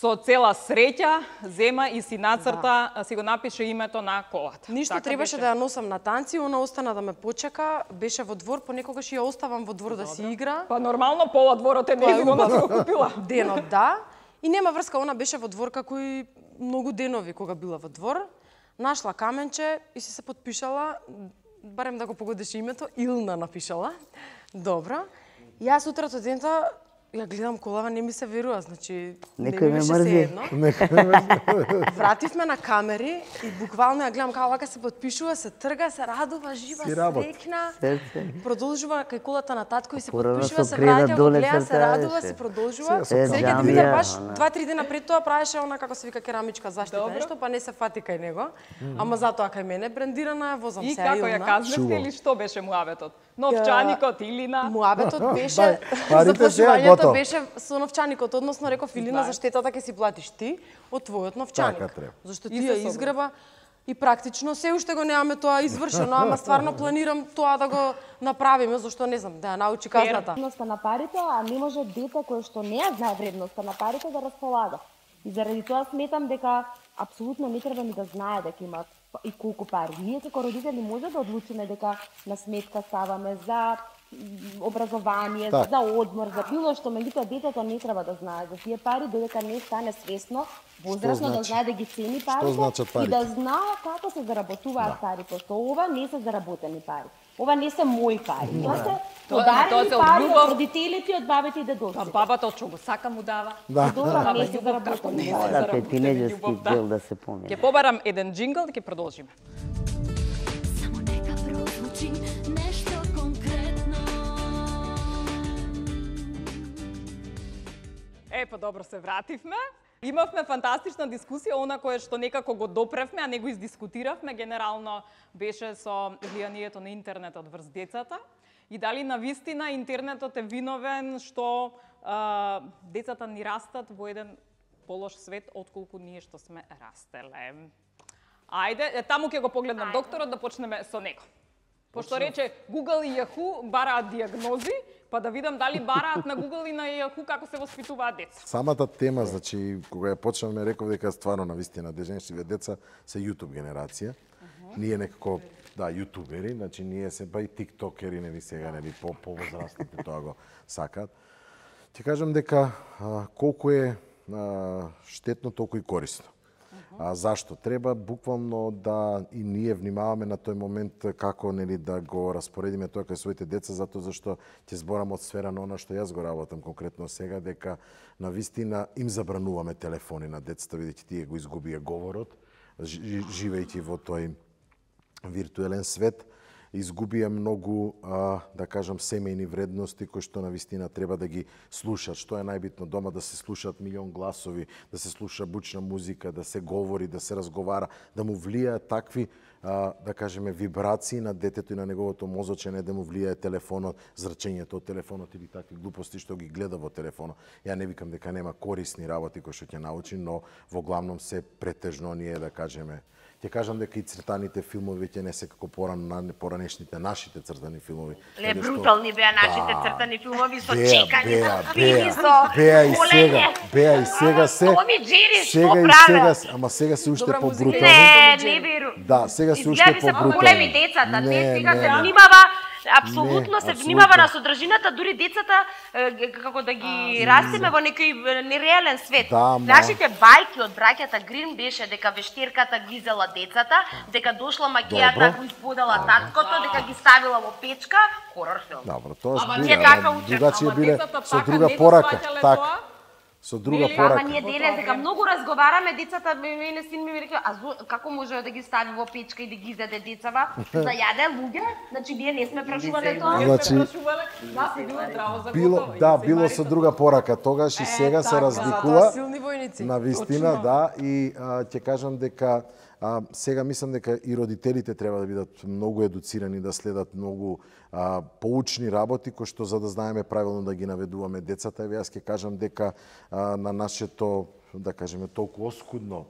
со цела среќа, зема и си нацрта, си го напише името на колата. Ништо требаше да ја носам на танци, она остана да ме почека, беше во двор, понекогаш ја оставам во двор да си игра. Па нормално пола дворот е нејзино, она си го купила. Денот, да. И нема врска, она беше во двор како и многу денови кога била во двор. Нашла каменче и си се подпишала, барем да го погодеше името, Илна напишала. Добро. И јас утрото дента ја гледам колава, не ми се верува, значи не ми беше сеедно. Вративме на камери и буквално ја гледам како вака се подпишува, се трга, се радува, жива, среќна. Продолжува кај колата на татко и се подпишува, се враќа, го гледа, се радува, се продолжува. Среќа Димитар баш 2-3 дена пред тоа правеше она како се вика керамичка заштита нешто, па не се фати кај него. Ама затоа кај мене брендирана, возам се Илна. И како ја казневте или што беше муабетот? Новчаникот, Илина? Муабетот беше запрошувањето беше со новчаникот, односно реков Илина за штетата ќе си платиш ти од твојот новчаник. Зашто ти ја изгреба и практично се уште го немаме тоа извршено, ама стварно планирам тоа да го направиме, зашто не знам, да ја научи казната. Вредноста на парите, а не може дете кое што не ја знае вредноста на парите да располага. И заради тоа сметам дека апсолутно не треба ни да знае дека има и колку пари. Ние како родители може да одлучиме дека на сметка ставаме за образование, за одмор, за било што, меѓутоа детето не треба да знае за тие пари додека не стане свесно, возрасно да знае да ги цени парите и да знае како се заработуваат парите, што ова не се заработени пари. Ова не се мои пари. Тоа се подарени пари од родителите и од бабите и дедовците. Бабата од што го сака му дава. Тоа не се заработени пари. Така е тинеџерски дел да се помине. Ќе побарам еден джингл и ќе продолжиме. Само нека прозвучи нешто конкретно. Па добро се вративме. Имавме фантастична дискусија, она кое што некако го допревме, а не го издискутиравме, генерално беше со влијанието на интернетот врз децата. И дали навистина интернетот е виновен што децата ни растат во еден полош свет отколку ние што сме растеле. Ајде, таму ќе го погледнам докторот да почнеме со него. Пошто рече Google и Yahoo бараат диагнози, па да видам дали бараат на Google и на Yahoo како се воспитуваат деца. Самата тема, значи, кога ја почнавме, реков дека стварно навистина денешните деца се YouTube генерација. Ние некако, да, јутубери, значи ние се па и тиктокери, нели сега, нели по-возрастните тоа го сакаат. Ќе кажам дека колку е штетно, толку и корисно. Зашто? Треба буквално да и ние внимаваме на тој момент како нели да го распоредиме тоа кај своите деца, затоа зашто ќе зборам од сфера на она што јас го работам конкретно сега, дека навистина им забрануваме телефони на децата, бидејќи тие го изгубија говорот, живејќи во тој виртуелен свет, изгубија многу, да кажам, семејни вредности кои што навистина треба да ги слушат. Што е најбитно дома, да се слушаат милион гласови, да се слуша бучна музика, да се говори, да се разговара, да му влијаат такви, да кажеме, вибрации на детето и на неговото мозоче, не да му влијае телефонот, зрачењето од телефонот или такви глупости што ги гледа во телефонот. Ја не викам дека нема корисни работи кои што ќе научи, но во главном се претежно ние, да кажеме, ќе кажам дека и цртаните филмови ќе не се како поранешните нашите цртани филмови. Ле брутални беа нашите цртани филмови со чекање, беа и сега се. Томи Джери што правел? Ама сега се уште побрутални. Не веру. Да, сега се уште побрутални. Големи децата, не сега се внимава. Апсолутно се внимава на содржината, дури децата како да ги растиме во некој нереален свет. Нашите бајки од браќата Грин беше дека вештерката ги зела децата, дека дошла макијата го исподела таткото, дека ги ставила во печка, хорор филм. Добро, тоа збира, другачие биле со друга порака, така. Со друга порака. Ама ние денес дека многу разговараме, децата мене син ми рекла, како може да ги стави во печка и да ги изеде децава? За јаде луѓе? Значи ние не сме прашувале тоа. Значи било со друга порака, тогаш и сега се разликува. На вистина, да, и ќе кажам дека сега мислам дека и родителите треба да бидат многу едуцирани, да следат многу поучни работи кои што за да знаеме правилно да ги наведуваме децата. Еве јас ќе кажам дека на нашето, да кажеме, толку оскудно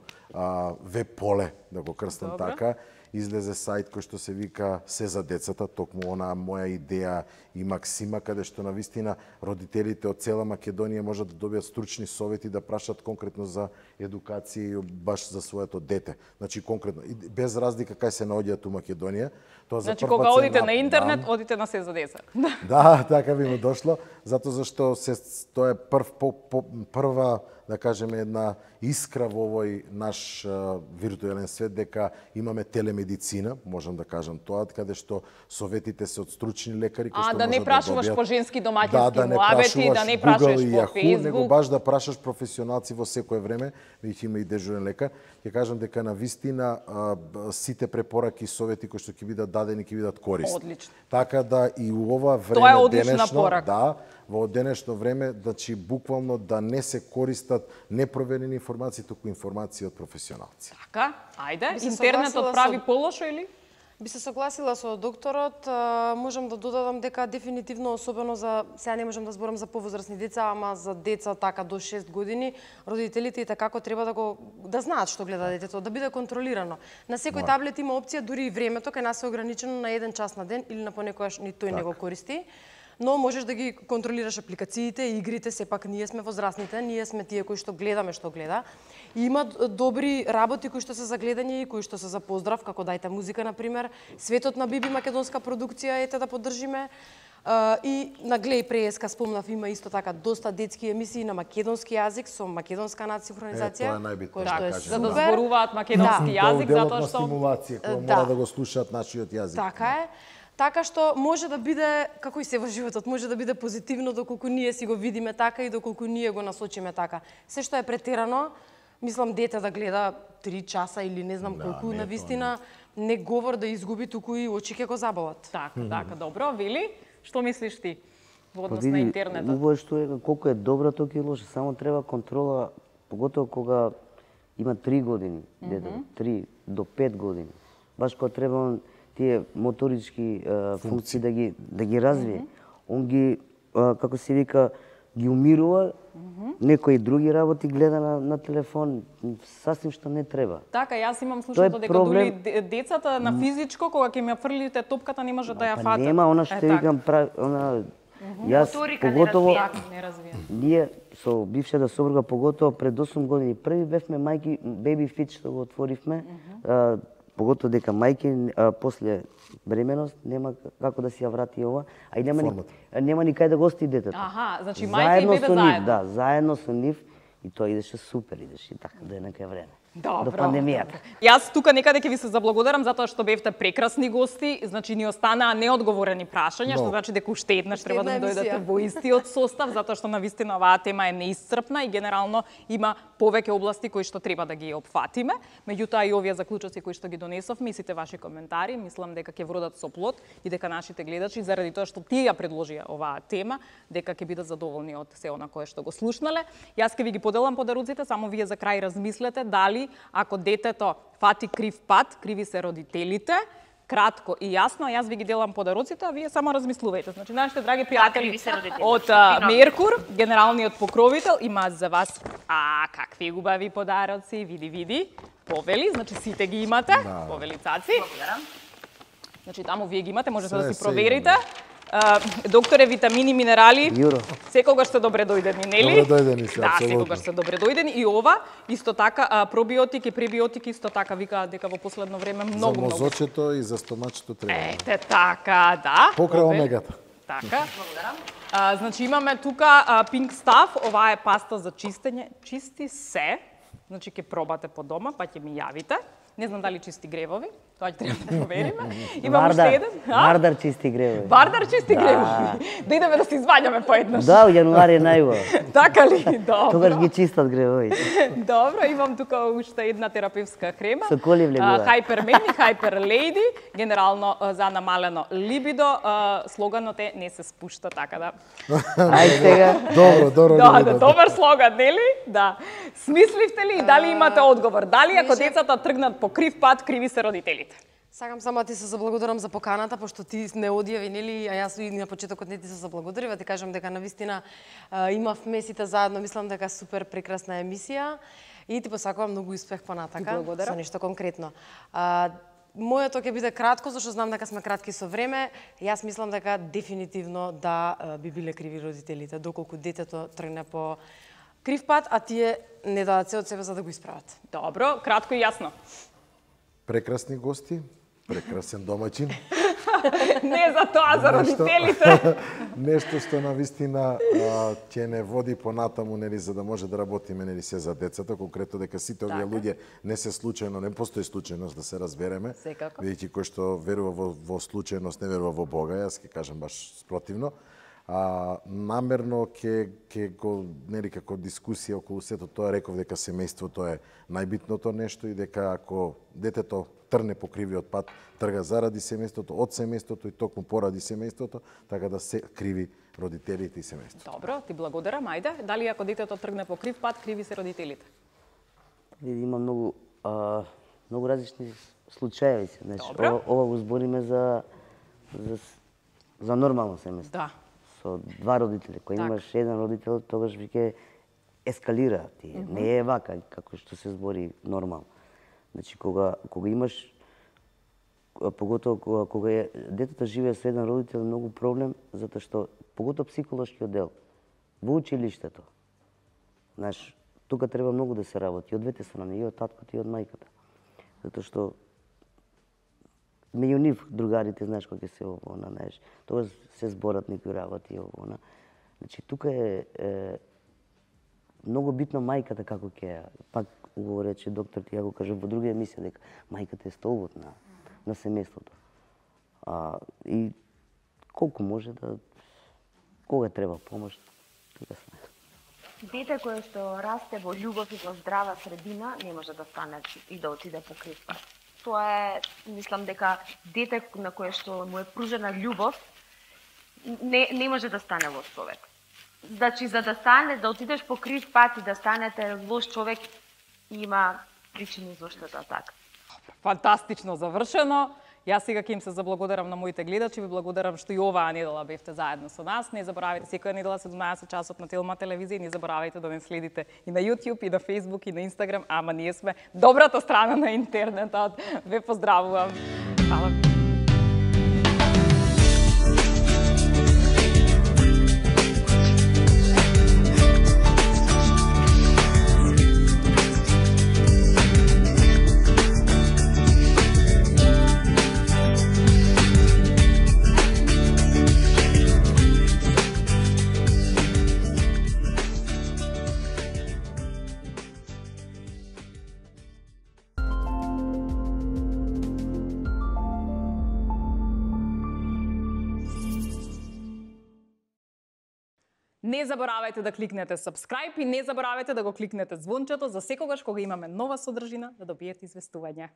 веб поле, да го крстам така, излезе сајт кој што се вика Се за децата, токму она моја идеја и максима, каде што навистина родителите од цела Македонија можат да добијат стручни совети да прашат конкретно за едукација баш за своето дете. Значи конкретно без разлика кај се наоѓаат у Македонија. Тоа за Значи кога одите на интернет, одите на Се за деца. Да, така би му дошло, затоа зашто тоа е прва, да кажеме, една искра во овој наш виртуелен свет, дека имаме телемедицина, можам да кажам тоа, каде што советите се од стручни лекари кои што да не прашуваш по женски домаќински муавети, да не Google прашуваш и по Yahoo, Facebook. него баш да прашаш професионалци во секое време, веќе има и дежурен лекар. Ќе кажам дека на вистина сите препораки и совети кои што ќе бидат дадени ќе бидат корисни. Одлично. Така да и у ова време Тоа е одлична денешно, порака. да, во денешно време, значи буквално да не се користат непроверени информации, туку информации од професионалци. Така, ајде, Би се интернетот согласила прави со- полошо или? Би се согласила со докторот, можам да додадам дека дефинитивно, особено за, сега не можам да зборам за повозрасни деца, ама за деца така до 6 години, родителите и како треба да знаат што гледа детето, да биде контролирано. На секој таблет има опција, дури и времето, кај нас е ограничено на 1 час на ден или на понекогаш ни тој не го користи. Но можеш да ги контролираш апликациите, игрите, сепак ние сме возрастните, ние сме тие кои што гледаме што гледа. И има добри работи кои што се за гледање и кои што се за поздрав, како Дајте музика, например. Светот на Биби, македонска продукција, ете да поддржиме. И на Глеј Преска спомнав, има исто така доста детски емисии на македонски јазик со македонска надсинхронизација. Тоа е најбитно, кој да што е кажем. За да супер. зборуваат македонски Да. јазик, Тоа е затоа на што стимулација, која Да. мора да го слушаат нашиот јазик. Така е. Така што може да биде, како и се во животот, може да биде позитивно доколку ние си го видиме така и доколку ние го насочиме така. Се што е претерано, мислам дете да гледа 3 часа или не знам колку, не, на вистина не говор да изгуби, туку и очи ќе го заболат. Така, добро, Вили, што мислиш ти во Па однос на види, интернетот? убаво што е, колку е добро, толку и лошо. Само треба контрола, поготово кога има 3 години, детето, 3 до 5 години. Баш кога треба тие моторички функции да ги развие. Он ги, како се вика, ги умирува, некои други работи гледа на телефон, сасвим што не треба. Така, јас имам слушното дека проблем. дури децата на физичко, кога ќе ми ја фрлите топката, не може да ја фатат. Нема, она што викам, она... Јас, поготово, Не развија. ние со бившата сопруга, поготово пред 8 години, први бевме мајки, Baby Fit што го отворивме, поготово дека мајки после бременост нема како да си ја врати ова, а и нема ни кај да го остави детето. Аха, значи мајка и бебе со нив, заедно. да, заедно со нив и тоа идеше супер, идеше така до некој време. Добро. До пандемијата. Јас тука некаде ќе ви се заблагодарам затоа што бевте прекрасни гости, значи ни останаа неодговорени прашања, што значи дека уште еднаш треба да една дојдете емисија. во истиот состав, затоа што навистина оваа тема е неисцрпна и генерално има повеќе области кои што треба да ги опфатиме. Меѓутоа и овие заклучоци кои што ги донесовме и сите ваши коментари, мислам дека ќе вродат со плод и дека нашите гледачи заради тоа што тие ја предложија оваа тема, дека ќе бидат задоволни од се она кое што го слушнале. Јас ќе ви ги поделам подаруците, само вие за крај размислете дали ако детето фати крив пат, криви се родителите, кратко и јасно, јас ви ги делам подаруците, а вие само размислувајте. Значи, нашите драги пријатели од Меркур, генералниот покровител, има за вас какви убави подароци, види, повели, значи сите ги имате, повели цаци. Значи, таму вие ги имате, можете да си проверите. Докторе, витамини, минерали, Јуро. секогаш сте добре дојдени, нели? Добре дојдени се, Да, апсолутно. секогаш сте добре дојдени. И ова, исто така, пробиотик и пребиотик, исто така, викаат дека во последно време За многу. мозочето и за стомачето треба. Ете така, да. Покрај Повели. омегата. Така. Значи имаме тука Pink Stuff, ова е паста за чистење, чисти се. Значи ќе пробате по дома, па ќе ми јавите. Не знам дали чисти гревови, тоа ќе треба да провериме. Имам уште еден. Вардар чисти гревови. Вардар чисти гревови. Да идеме да се изваѓаме поеднаш. Да, јануари е најубаво. Така ли? Добро. Тогаш ги чистат гревовите. Добро, имам тука уште една терапевска крема. Со коли влегува? Hyperman и Hyper Lady, генерално за намалено либидо. Слоганот е не се спушта, така да. Ај сега. Добро. Да, добар слоган, нели? Да. Смисливте ли и дали имате одговор? Дали ако децата тргнат по крив пат, криви се родителите? Сакам само да ти се заблагодарам за поканата, пошто ти не одјави, нели, а јас и на почетокот не ти се заблагодарив, ти кажам дека навистина имавме сите заедно, мислам дека супер прекрасна емисија и ти посакувам многу успех понатака. Благодарам. Со нешто конкретно. моето ќе биде кратко, зашто знам дека сме кратки со време. Јас мислам дека дефинитивно да би биле криви родителите, доколку детето тргне по крив пат, а тие не дадат се од себе за да го исправат. Добро, кратко и јасно. Прекрасни гости, прекрасен домаќин. Не за тоа, за родителите. Нешто што на вистина ќе не води понатаму, нели, за да може да работиме, нели, се за децата, конкретно дека сите овие луѓе не се случајно, не постои случајност, да се разбереме. Секако. Бидејќи кој што верува во случајност, не верува во Бога, јас ќе кажам баш спротивно. Намерно ќе го, нели, како дискусија околу сето тоа реков дека семејството е најбитното нешто и дека ако детето трне по кривиот пат, трга заради семејството, од семејството и токму поради семејството, така да се криви родителите и семејството. Добро, ти благодарам. Ајде, дали ако детето тргне по крив пат, криви се родителите? Има многу различни случаи. Значи, Добро. ова го збориме за нормално семејство. Да. Со два родители. Кој имаш еден родител, тогаш веќе ескалира тие. Не е вака како што се збори нормално. Значи, кога имаш, поготово кога детето живее со еден родител, е многу проблем, затоа што, поготово психолошкиот дел, во училиштето, знаеш, тука треба многу да се работи, од двете страни, и од таткото, и од мајката. Затоа што, меѓу нив другарите, знаеш, кога се овона, знаеш, тоа се зборат некои работи, овона. Значи, тука е многу битно мајката како ќе, пак го рече доктор, ја го кажа во друга емисија, дека мајката е столбот на семејството. И колку може да, кога треба помош, тука сме. Дете кое што расте во љубов и во здрава средина не може да стане и да отиде по крив пат. Тоа е, мислам дека дете на кое што му е пружена љубов не може да стане лош човек. Значи, за да стане, да отидеш по крив пат и да станете лош човек, има причини зашто да така. Фантастично завршено. Јас сега ќе им се заблагодарам на моите гледачи, ви благодарам што и оваа недела бевте заедно со нас. Не заборавајте секоја недела 17 часот на Телма телевизија, не заборавајте да не следите и на YouTube, и на Facebook, и на Instagram, ама ние сме добрата страна на интернетот. Ве поздравувам. Фала. Не заборавајте да кликнете subscribe и не заборавајте да го кликнете звончето за секогаш кога имаме нова содржина да добиете известување.